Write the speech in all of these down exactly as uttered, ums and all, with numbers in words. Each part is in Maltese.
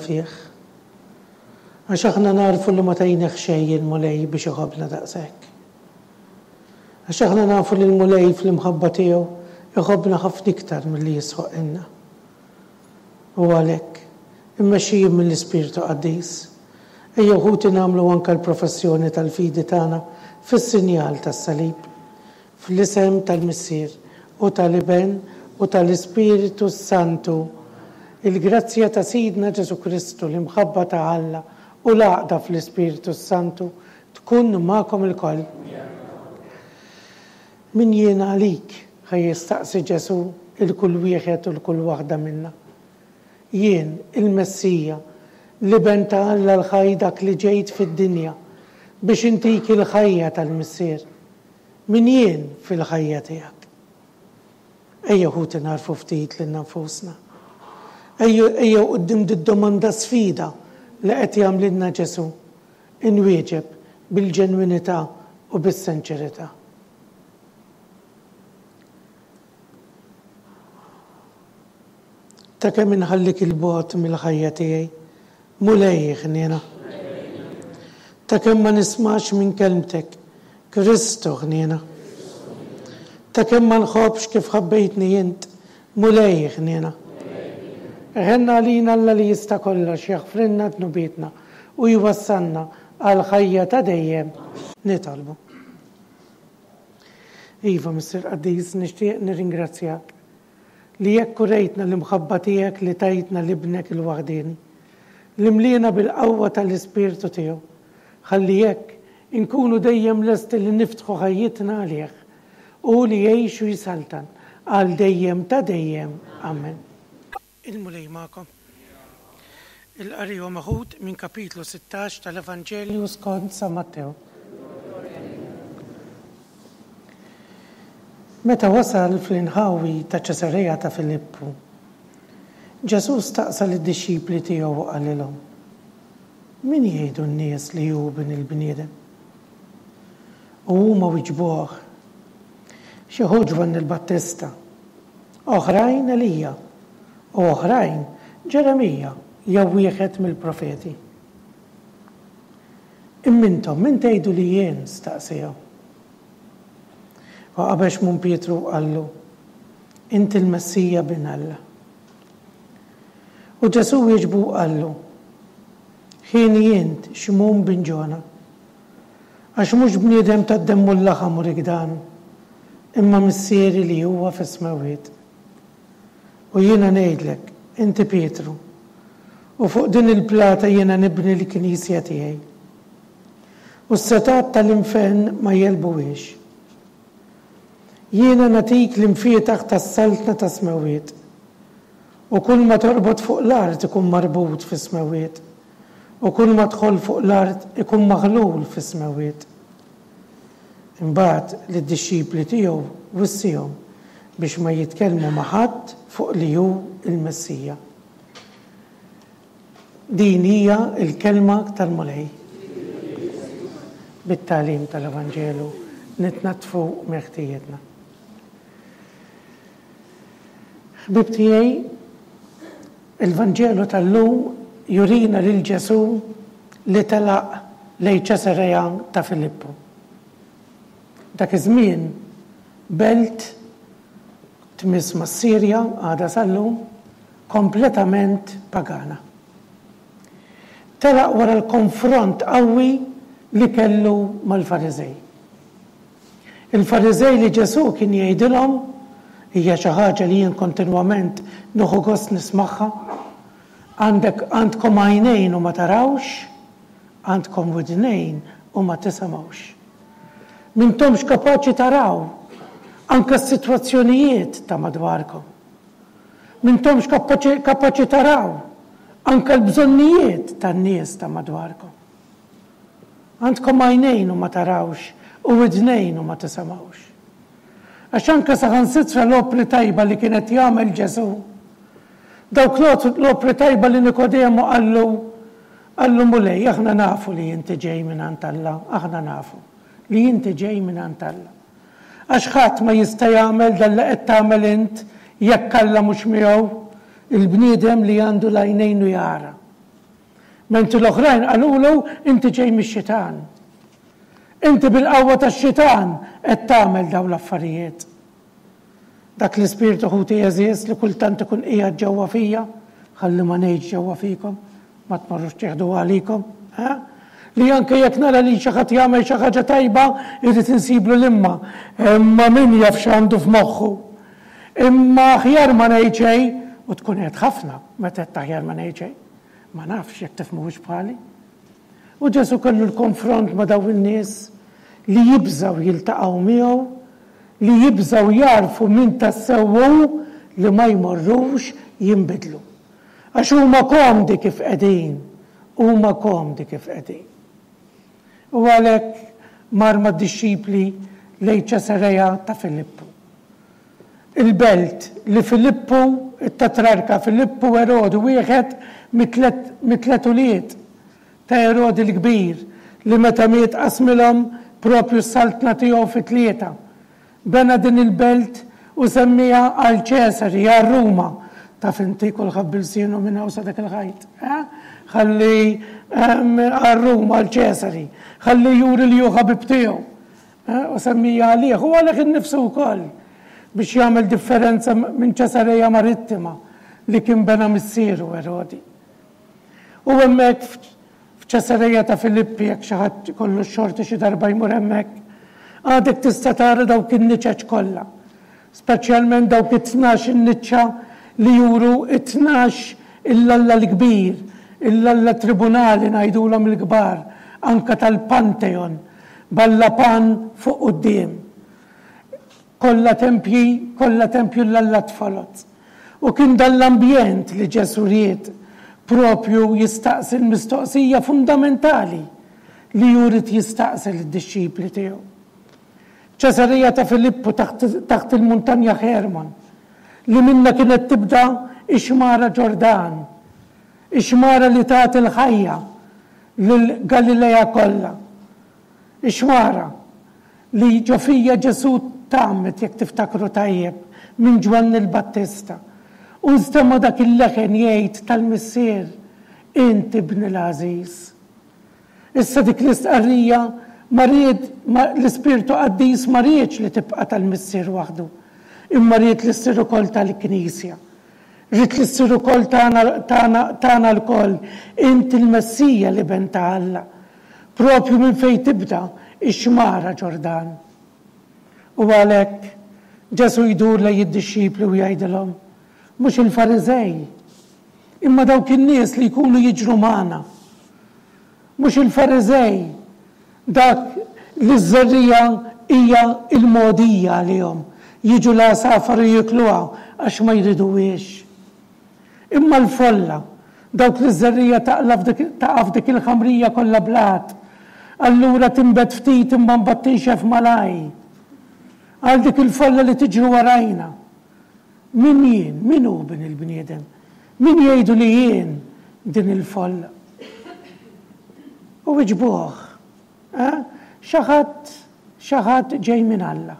Fih. Għax aħna narfu li ma tajnieh xejn il-Mulej biex iħobbna daqshekk. Għax aħna nafu li l-Mulej fl-imħabba tiegħu iħobbna ħafna iktar milli jistħoqqilna. U għalhekk, immexxijin mill-Ispirtu Qaddis, ejjew ħuti nagħmlu anke l-professjoni tal-fidi tagħna fis-sinjal tas-salib, fl-isem tal-Missier u tal-Iben u tal-Ispirtu Santu. Il-grazzja ta' Sidna Ġesù Kristu, l-imħabba ta' Alla u l-għaqda fl-Ispirtu Santu tkun magħkom ilkoll. Min jien għalik? Ħa jistaqsi Ġesù 'l kull wieħed u 'l kull waħda minna. Jien, il-Messija, l-Iben ta' Alla l-ħaj dak li ġejt fid-dinja biex intik il-ħajja tal-Missier. Min jien fil-ħajja tiegħek? Ejjew ħuti nagħrfu ftit lilna nfusna. Ejjew quddiem did-domanda sfida li qed jagħmlilna Ġesù, inwieġeb bil-ġenwinità u bis-sinċerità. Ta' kemm inħallik il-bogħod mill-ħajja tiegħi, Mulej ħniena. Ta' kemm ma nismax minn kelmtek, Kristu ħniena. Ta' kemm ma nħobbx kif ħabbejtni int, Mulej ħniena. Ħenna għalina Alla li jista' kollox jaħfrilna dnubietna u jwassalna għall-ħajja ta' dejjem. Nitolbu. Iva, Missier Qaddis, nixtieq nirringrazzjak li hekk urejtna l-imħabba tiegħek li tajtna l-Ibnek il-waħdieni, li mliena bil-qawwa tal-Ispirtu tiegħu, ħalli hekk inkunu dejjem lesti li niftħu ħajjitna għalih, hu li jgħix u jsaltan għal dejjem ta' dejjem. Amen. Il-Mulej magħkom. Il-qari huwa meħud minn kapitlu sittax tal-Evanġelju skont San Mattew. Meta wasal fl-inħawi ta' Ċesarea ta' Filippu, Ġesù staqsa lid-dixxipli tiegħu u qalilhom, Min jgħidu n-nies li hu Bin il-bniedem? U huma wiġbuh, Xi wħud Ġwanni l-Battista, oħrajn Elija, u oħrajn Ġeremija jew wieħed mill-profeti. Imma intom min tgħidu li jien? staqsiehom. U qabeż Xmun Pietru u qallu, Inti l-Messija Bin Alla. U Ġesù wieġbu u qallu, Hieni int, Xmun bin Ġona, għax mhux bniedem tad-demm u l-laħam urik dan, imma Missieri li huwa fis-smewwiet. U jiena ngħidlek, inti Pietru, u fuq din il-plata jiena nibni l-knisja tiegħi. U s-setgħat tal-infern ma jegħlbuhiex. Jiena nagħtik l-imfietaħ tas-saltna tas-smewwiet. U kull ma torbot fuq l-art ikun marbut fis-smewwiet, u kull ma tħoll fuq l-art ikun maħlul fis-smewwiet. Imbagħad lid-dixxipli tiegħu wissiehom biex ma jitkellmu ma' ħadd fuq li hu l-Messija. Din hija l-kelma tal-Mulej. Bit-tagħlim tal-Evanġelu nitnaddfu minn ħtijietna. Ħbieb tiegħi, il-Vanġelu tal-lum jurina lil Ġesù li telaq lejn Ċesarea ta' Filippu. Dak iż-żmien belt tmiss mas-Sirja għadha sal-lum, kompletament pagana. Telaq wara l-konfront qawwi li kellu mal-Fariżej. Il-Fariżej li Ġesù kien jgħidilhom, hija xi ħaġa li jien kontinwament nieħu gost nismagħha, għandek għandkom għajnejn u ma tarawx, għandkom widnejn u ma tisimgħux. M'intomx kapaċi taraw anke s-sitwazzjonijiet ta' madwarkom. M'intomx kapaċi taraw anke l-bżonnijiet tan-nies ta' madwarkom. Għandkom għajnejn u ma tarawx u widnejn u ma tisimgħux. Għax anke saħansitra l-opri tajba li kien qed jagħmel Ġesù, dawk l-opri tajba li Nikodemu qallu, qallu Mulej, aħna nafu li inti ġej mingħand Alla, aħna nafu li inti ġej mingħand Alla. Għax ħadd ma jista' jagħmel dan li qed tagħmel int jekk Alla mhux miegħu, il-bniedem li għandu l-għajnejn u jara. Mentri l-oħrajn qalulu inti ġej mix-xitan. Inti bil-qawwa tax-xitan qed tagħmel dawn l-affarijiet. Dak l-ispirtu, ħuti għeżież, li kultant ikun qiegħed ġewwa fija, ħalli ma ngħidx ġewwa fikom, ma tmorrux tieħdu għalikom, eh? Li anke jekk nara li xi ħadd jagħmel xi ħaġa tajba, irrid insiblu l-imma. Imma min jaf x'għandu f'moħħu. Imma aħjar ma ngħid xejn, u tkun qed ħafna meta qed aħjar ma ngħid xejn. Ma nafx jekk tifhmuhiex bħali. U Ġesù kellu l-konfront ma' dawn in-nies li jibżgħu jiltaqgħu miegħu, li jibżgħu jagħrfu min tassew hu, li ma jmorrux jinbidlu. Għax huma komdi kif qegħdin, huma komdi kif qegħdin. U għalhekk mar mad-dixxipli lejn Ċesareja ta' Filippu. Il-belt li Filippu, it-tetrarka Filippu Erodi, wieħed mit-tliet ulied ta' Erodi l-Kbir, li meta miet qasmilhom propju s-saltna tiegħu fi tlieta. Bena din il-belt u semmiha għal Ċesari, għal Ruma. Taf inti kulħadd b'ilsienu minn hawn sa dak il-ħajt. Ħalli għal Ruma, għal Ċesari. Ħalli juri li hu ħabib tiegħu. U semmija għalih u għalih innifsu wkoll biex jagħmel differenza minn Ċesareja Marittima li kien bena missieru Erodi. U hemmhekk f'Ċesareja ta' Filippi, jekk xi ħadd kollu x-xorti xi darba jmur hemmhekk, għadek tista' tara dawk in-niċeċ kollha, speċjalment dawk it-tnax in-niċċa li juru it-tnax il-Alla l-kbir, il-Alla tribunali ngħidulhom il-kbar, anka tal-Pantheon, b'Alla Pan fuq quddiem. Kollha tempji, kollha tempju l-Alla tfolot. U kien dan l-ambjent li Ġesù ried propju jistaqsi l-mistoqsija fundamentali li hu ried jistaqsi lid-dixxipli tiegħu. Ċesarija ta' Filippu taħt il-muntanja Hermon, li minna kienet tibda ix-xmara Ġordan, ix-xmara li tagħti l-ħajja lil Galilea kollha. Ix-xmara li ġo fija Ġesù tgħammed, jekk tiftakru tajjeb, minn Ġwanni l-Battista. U nstema' dak il-leħen jgħid tal-Missier, int ibni l-għażiż. Issa dik l-istqarrija ma ried, l-Ispirtu Qaddis ma riedx li tibqa' tal-Missier waħdu, imma ried li ssir ukoll tal-Knisja. Ried li ssir ukoll tagħna lkoll, int il-Messija l-Iben ta' Alla. Propju minn fejn tibda ix-xmara Ġordan. U għalhekk Ġesù jdur lejn id-dixxipli u jgħidilhom, mhux il-Fariżej, imma dawk in-nies li jkunu jiġru magħna. Mhux il-Fariżej, dak li ż-żerriegħa hija l-mogħdija għalihom, jiġu l-għasafar u jiekluha għax ma jriduhiex. Imma l-folla, dawk li ż-żerriegħa taqa' f'dik il-ħamrija kollha blat, allura tinbet ftit imma mbagħad tinxef malaj. Għal dik il-folla li tiġri warajna. Min jien? Min hu bin il-bniedem? Min jgħidu li jien din il-folla? U wiġbuh, xi ħadd, xi ħadd ġej minn Alla.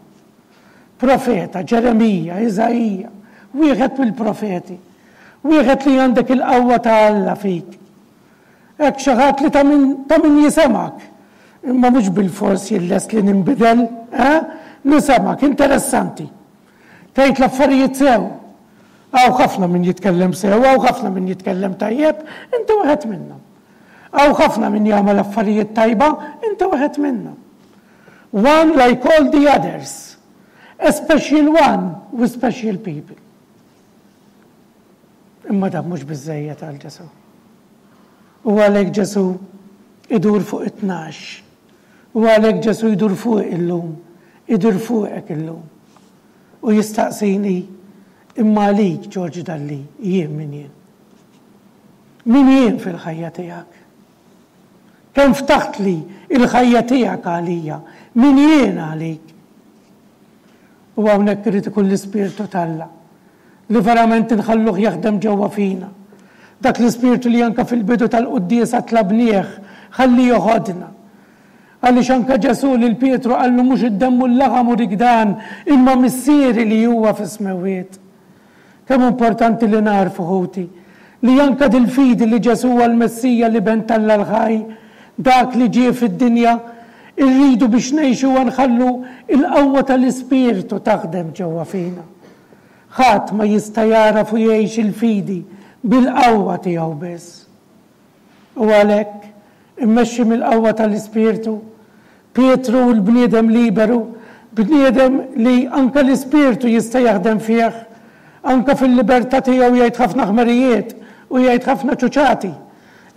Profeta, Ġeremija, Iżaija, wieħed mill-profeti. Wieħed li għandek il-qawwa ta' Alla fik. Hekk xi ħadd li ta' min jisemgħek. Imma mhux bilfors jien lest li ninbidel, eh? Nisemgħek, interessanti. Tgħid l-affarijiet sew. Hawn ħafna min jitkellem sew, hawn ħafna min jitkellem tajjeb, inti wieħed minnhom. Hawn ħafna min jagħmel affarijiet tajba, inti wieħed minnhom. One like all the others. A special one with special people. Imma dan mhux biżżejjed għal Ġesù. U għalhekk Ġesù idur fuq it-tnax. U għalhekk Ġesù jdur fuq illum, idur fuqek illum. U jistaqsini, imma għalik, George Dalli, jien min jien? Min jien fil-ħajja tiegħek? Kemm ftaħtli il-ħajja tiegħek għalija? Min jien għalik? U hawnhekk irid ikun l-Ispirtu t'Alla li verament inħalluh jaħdem ġewwa fina. Dak l-Ispirtu li anka fil-bidu tal-quddiesa tlabnieh ħalli joħodna. Għaliex anka Ġesù lil Pietru qallu mhux id-demm u l-laħam u rik dan, imma Missieri li huwa fis-smewwiet. Kemm importanti li nagħrfu, ħuti, Li anke dil-fidi li Ġesù huwa l-Messija, l-Iben t'Alla l-ħaj, dak li ġie fid-dinja, irridu biex ngħixuha nħallu l-qawwa tal-Ispirtu taħdem ġewwa fina. Ħadd ma jista' jagħraf u jgħix il-fidi bil-qawwa tiegħu biss. U għalhekk, immexxi mill-qawwa tal-Ispirtu, Pietru l-bniedem liberu, bniedem li anke l-Ispirtu jista' jaħdem fih, anke fil-libertà tiegħu jgħid ħafna ħmerijiet u jgħid ħafna ċuċati,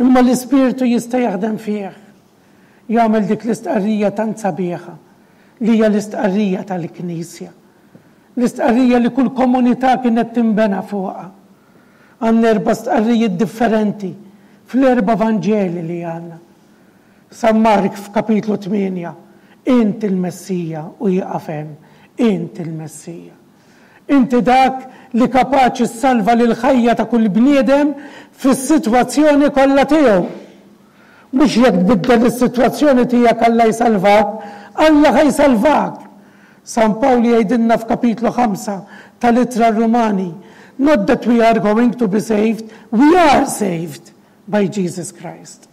imma l-Ispirtu jista' jaħdem fih. Jagħmel dik l-istqarrija tant sabiħa, li hija l-istqarrija tal-Knisja. L-istqarrija li kull komunità kienet tinbena fuqha. Għandna erba' stqarrijiet differenti fl-erba' Vanġeli li għandna. San Mark f'kapitlu tmienja, Int il-Messija, u jieqaf hemm, Int il-Messija. Inti dak li kapaċi ssalva lill-ħajja ta' kull bniedem fis-sitwazzjoni kollha tiegħu. Mhux jekk tbiddel is-sitwazzjoni tiegħek Alla jsalvak, Alla ħa jsalvak. San Pawl jgħidilna f'kapitlu ħamsa tal-Ittra r-Rumani, Not that we are going to be saved, we are saved by Jesus Christ.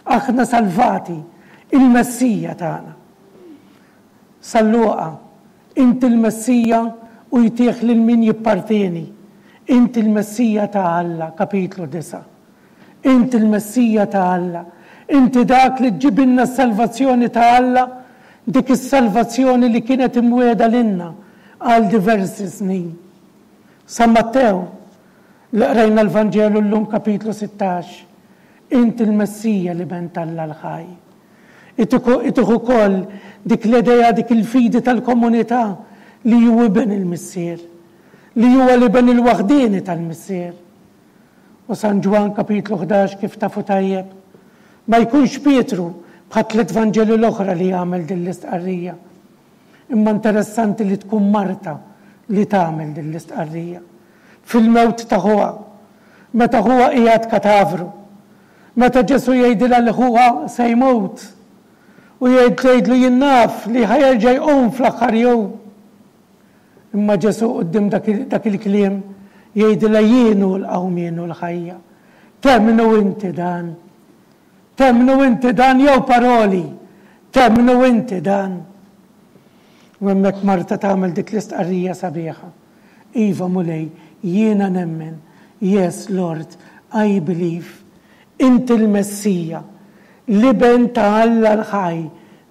Aħna salvati, il-Messija tagħna. San Luqa, Int il-Messija u jtih lil min jippartieni. Int il-Messija ta' Alla, kapitlu disgħa. Int il-Messija ta' Alla. Inti dak li ġġibilna s-salvazzjoni ta' Alla, dik is-salvazzjoni li kienet imwiegħda lilna għal diversi snin. San Mattew, li qrajna l-Vanġelu llum kapitlu sittax, Int il-Messija, l-Iben t'Alla l-ħaj. Itih ukoll dik l-idea, dik il-fidi tal-komunità li hu iben il-Missier, li huwa l-iben il-waħdieni tal-Missier. U San Ġwann kapitlu ħdax, kif tafu tajjeb, ma jkunx Pietru bħat-tliet Vanġeli l-oħra li jagħmel din l-istqarrija. Imma interessanti li tkun Marta li tagħmel din l-istqarrija. Fil-mewt ta' ħuha, meta ħuha qiegħed katavru, meta Ġesù jgħidilha li ħuha se jmut, u jgħid tgħidlu jien naf li ħa jerġa' jqum fl-aħħar jum. Imma Ġesù quddiem dak il-kliem jgħidilha jien hu l-qawmien u l-ħajja. Temmnu inti dan? Temmnu inti dan jew paroli? Temmnu inti dan? U hemmhekk Marta tagħmel dik l-istqarrija sabiħa. Iva Mulej, jiena nemmen. Yes, Lord, I believe. Inti l-Messija, l-Iben ta' Alla l-ħaj,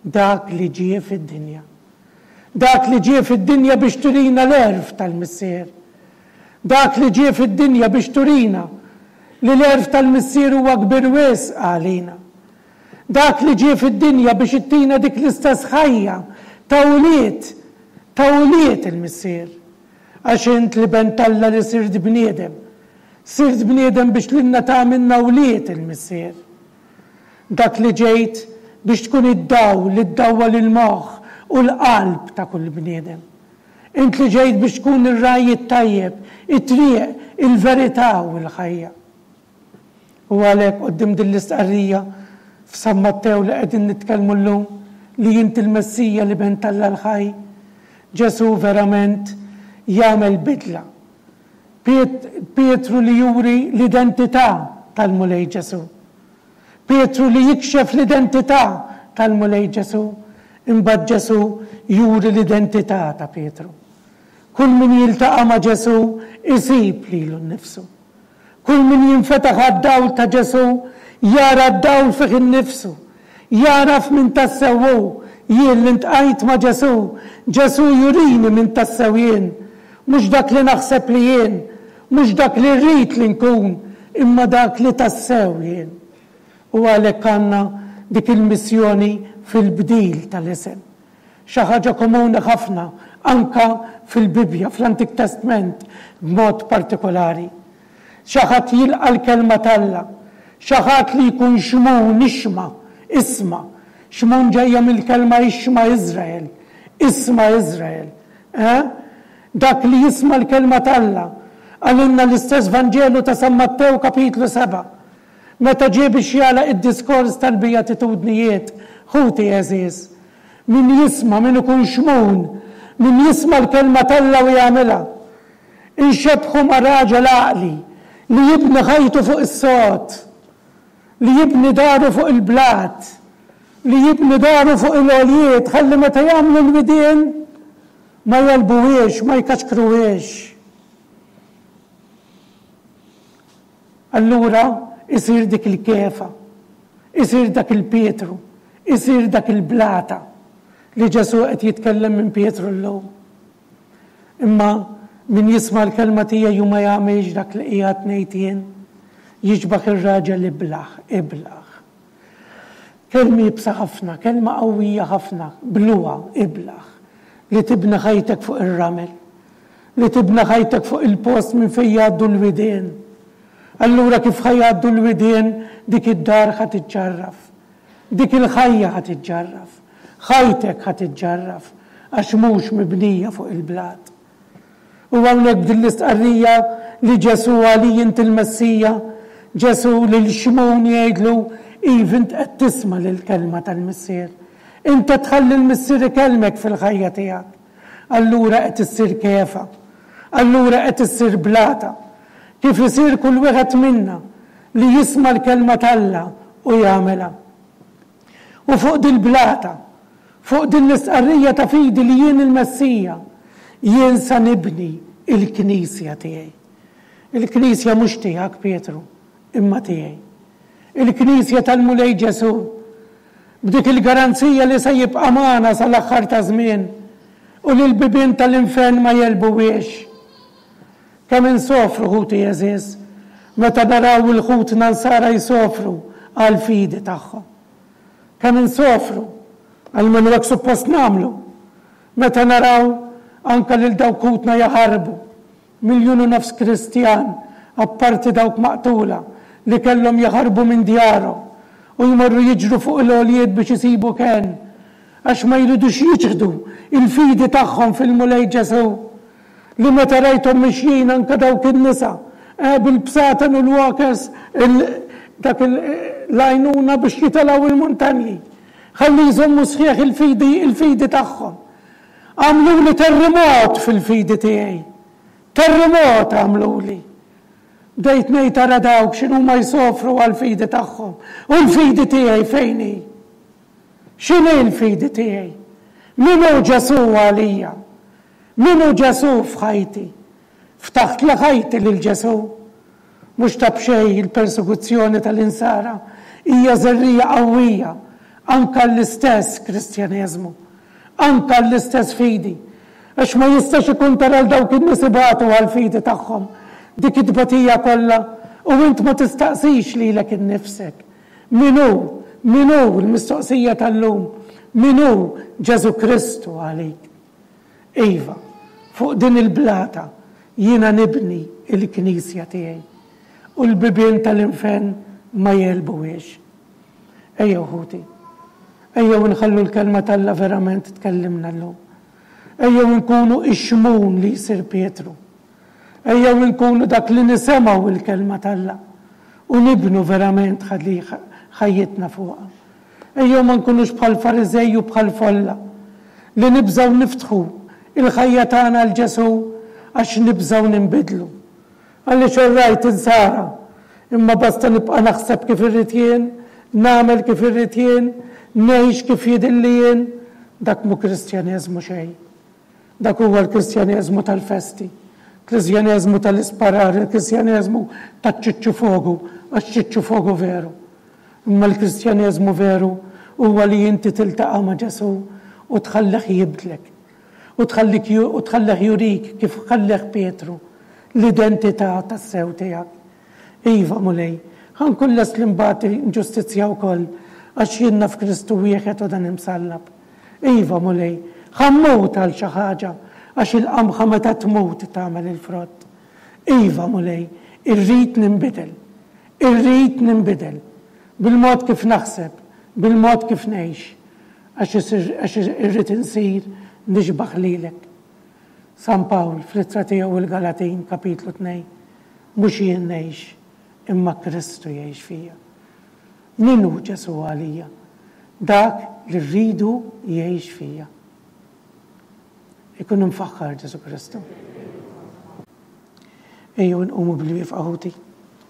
dak li ġie fid-dinja. Dak li ġie fid-dinja biex turina l-għerf tal-Missier. Dak li ġie fid-dinja biex turina li l-għerf tal-Missier huwa kbir wisq għalina. Dak li ġie fid-dinja biex ittina dik l-istess ħajja ta' ulied, ta' ulied il-Missier. Għax int l-Iben t'Alla li sirt bniedem. Sirt bniedem biex lilna tagħmilna wlied il-Missier. Dak li ġejt biex tkun id-dawl li ddawwal il-moħħ u l-qalb ta' kull bniedem. Int li ġejt biex tkun ir-ragħaj it-tajjeb, it-triq, il-verità u l-ħajja. U għalhekk quddiem din l-istqarrija f'San Mattew li qegħdin nitkellmu llum, li int il-Messija, l-Iben t'Alla l-ħaj, Ġesù verament jagħmel bidla. Pietru li juri l-identità tal-Mulej Ġesù. Pietru li jikxef l-identità tal-Mulej Ġesù, imbagħad Ġesù juri l-identità ta' Pietru. Kull min jiltaqa' ma' Ġesù isib lilu nnifsu. Kull min jinfetaħ għad-dawl ta' Ġesù jara d-dawl fih innifsu. Jagħraf min tassew hu. Jien li ntqajt ma' Ġesù, Ġesù jurini min tassew jien. Mhux dak li naħseb li jien, mhux dak li rrid li nkun, imma dak li tassew jien. U għalhekk għandna dik il-missjoni fil-bdil tal-isem. Xi ħaġa komuni ħafna anka fil-Bibbja, fl-Antik Testment b'mod partikolari. Xi ħadd jilqa' l-kelma t'Alla, xi ħadd li jkun Xmun ixma, isma'. Xmun ġejja mill-kelma ixma Iżrael, isma' Iżrael. Eh? Dak li jisma' l-kelma t'Alla. Qalilna l-istess Vanġelu ta' San Mattew kapitlu sebgħa. Meta ġie biex jagħlaq id-diskors tal-Beatitudnijiet, ħuti għeżież, min jisma', min ikun Xmun, min jisma' l-kelma t'Alla u jagħmilha. Inxebbħu ma' raġel għaqli Li jibni ħajtu fuq is-sod, li jibni daru fuq il-blat, li jibni daru fuq il-għoljiet, ħalli meta jagħmlu l-widien ma jegħlbuhiex, ma jkaxkruhiex. Allura isir dik il-Kefa, isir dak il-Pietru, isir dak il-blata li Ġesù qed jitkellem minn Pietru llum. Imma min jisma' l-kelma tiegħi u ma jagħmilx dak li qiegħed ngħid jien, jixbah ir-raġel iblah, iblah. Kelma iebsa ħafna, kelma qawwija ħafna, bluha, iblah, li tibni ħajtek fuq ir-ramel, li tibni ħajtek fuq il-post minn fejn jgħaddu l-widien. Allura kif ħa jgħaddu l-widien, dik id-dar ħa tiġġarraf, dik il-ħajja ħa tiġġarraf, ħajtek ħa tiġġarraf, għax mhux mibnija fuq il-blat. U hawnhekk b'din l-istqarrija li Ġesù għali int il-Messija, Ġesù lil Xmun jgħidlu, Iv, int qed tisma' lill-kelma tal-Missier. Int qed tħalli l-Missier ikellmek fil-ħajja tiegħek. Allura qed issir Kefa. Allura qed issir blata. Kif isir kull wieħed minna li jisma' l-kelma t'Alla u jagħmilha. U fuq dil-blata, fuq din l-istqarrija ta' fidi li jien il-Messija, jien sa nibni l-knisja tiegħi. Il-knisja mhux tiegħek, Pietru, imma tiegħi. Il-knisja tal-Mulej Ġesù, b'dik il-garanzija li se jibqa' magħna sal-aħħar taż-żmien u li l-bibien tal-infern ma jegħlbuhiex. Kemm insofru, ħuti għeżież, meta naraw 'il ħutna nsara jsofru għall-fidi tagħhom. Kemm insofru, almenu hekk suppost nagħmlu, meta naraw anke lil dawk ħutna jaħarbu, miljun u nofs Kristjan, apparti dawk maqtula, li kellhom jaħarbu minn djarhom u jmorru jiġru fuq il-għoljiet biex isibu kenn, għax ma jridux jiċħdu l-fidi tagħhom fil-Mulej Ġesù, li meta rajthom mixjin anke dawk in-nisa, eh, bil-bsaten u l-walkers, dak l-għajnuna biex jitilgħu il-muntanji, ħalli jżommu sħiħ il-fidi, il-fidi tagħhom. Għamluli terremot fil-fidi tiegħi. Terremot għamluli. Bdejt ngħid ara dawk x'inhuma jsofru għall-fidi tagħhom. U l-fidi tiegħi fejn hi? X'inhi l-fidi tiegħi? Min hu Ġesù għalija? Min hu Ġesù f'ħajti? Ftaħtli ħajti lil Ġesù? Mhux ta' b'xejn il-persekuzzjoni tal-Insara hija żerriegħa qawwija anke għall-istess Kristjaneżmu, anke għall-istess fidi. Għax ma jistax ikun tara 'l dawk in-nies ibatu għall-fidi tagħhom dik it-tbatija kollha u int ma tistaqsix lilek innifsek, Min hu, min hu, l-mistoqsija tal-lum, min hu Ġesù Kristu għalik? Iva, fuq din il-blata jiena nibni l-knisja tiegħi, u l-bibien tal-infern ma jegħlbuhiex. Ejjew ħuti, ejjew inħallu l-Kelma t'Alla verament tkellimna llum. Ejjew inkunu ix-Xmun li jsir Pietru. Ejjew inkunu dak li nisemgħu l-Kelma t'Alla u nibnu verament ħajjitna fuqha. Ejjew ma nkunux bħall-Fariżej u bħall-folla li nibżgħu niftħu l-ħajja tagħna għal Ġesù għax nibżgħu ninbidlu. Għaliex all right insara, imma basta nibqa' naħseb kif irrid jien, nagħmel kif irrid jien, ngħix kif jidhirli jien, dak mhu Kristjaneżmu xejn. Dak huwa l-Kristjaneżmu tal-festi, Kristjaneżmu tal-isparar, il-Kristjaneżmu taċ-ċiċċu fogu, għax ċiċċu fogu veru. Imma l-Kristjaneżmu veru huwa li inti tiltaqa' ma' Ġesù u tħallih jibdlek. U tħallik u tħallih jurik kif ħallih Pietru l-identità tassew tiegħek. Iva, Mulej, ħa nkun lest li nbati inġustizzja wkoll għax jien naf Kristu wieħed u dan imsallab. Iva, Mulej, ħa mmut għal xi ħaġa, għax il-qamħa meta tmut tagħmel il-frott. Iva, Mulej, irrid ninbidel. Irrid ninbidel. Bil-mod kif naħseb, bil-mod kif ngħix, għax għax irrid insir nixbah lilek. San Pawl, fl-ittra tiegħu il-Galatin, kapitlu tnejn, mhux jien ngħix, imma Kristu jgħix fija. Min hu Ġesù għalija? Dak li rridu jgħix fija. Ikun imfaħħar Ġesù Kristu. Ejjew nqumu bil-wieqfa, ħuti.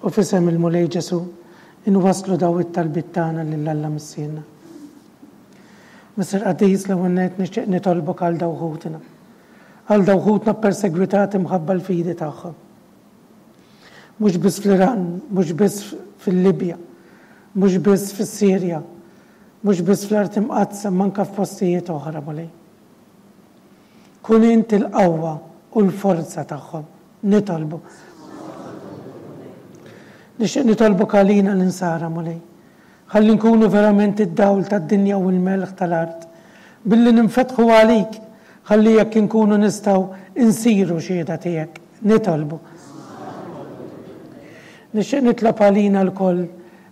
U f'isem il-Mulej Ġesù inwasslu daw it-talbiet tagħna lil Alla Missierna. Missier Qaddis, l-ewwel nett nixtieq nitolbok għal daw ħutna. Għal daw ħutna ppersegwitati mħabba l-fidi tagħhom. Mhux biss fl-Iran, mhux biss fil-Libja, mhux biss fis-Sirja, mhux biss fl-Art Imqaddsa, imma anke f'postijiet oħra, Mulej. Kun int il-qawwa u l-forza tagħhom. Nitolbu. Nixtieq nitolbok għalina l-insara, Mulej. Ħalli nkunu verament id-dawl tad-dinja u l-melħ tal-art, billi ninfetħu għalik, ħalli jekk inkunu nistgħu nsiru xhieda tiegħek. Nitolbu. Nixtieq nitlob għalina lkoll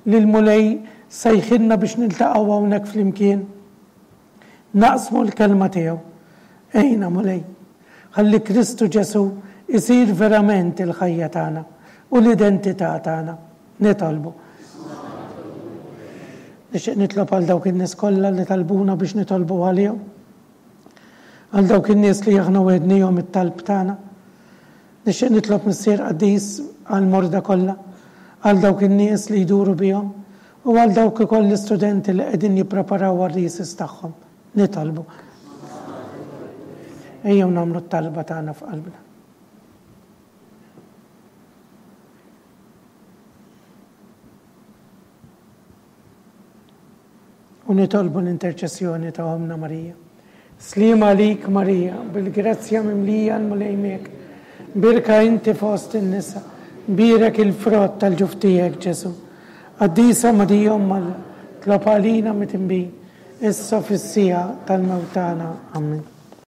li l-Mulej sejħilna biex niltaqgħu hawnhekk flimkien. Naqsmu l-kelma tiegħu. Għinna, Mulej, ħalli Kristu Ġesù isir verament il-ħajja tagħna u l-identità tagħna. Nitolbu. Nixtieq nitlob għal dawk in-nies kollha li talbuna biex nitolbu għalihom. Għal dawk in-nies li aħna wegħednihom it-talb tagħna. Nixtieq nitlob Missier Qaddis għall-morda kollha, għal dawk in-nies li jduru bihom u għal dawk ukoll l-istudenti li qegħdin jippreparaw għar-risis tagħhom. Nitolbu. Ejjew nagħmlu t-talba tagħna f'qalbna. U nitolbu l-interċessjoni ta' Ommna Marija. Sliem għalik Marija, bil-grazzja mimlija l-Mulej miegħek. Birka inti fost in-nisa, bierek il-frott tal-ġuf tiegħek Ġesù. Qaddisa Marija Omm Alla, tlob għalina midinbin, issa u fis-siegħa tal-mewt tagħna. Amen.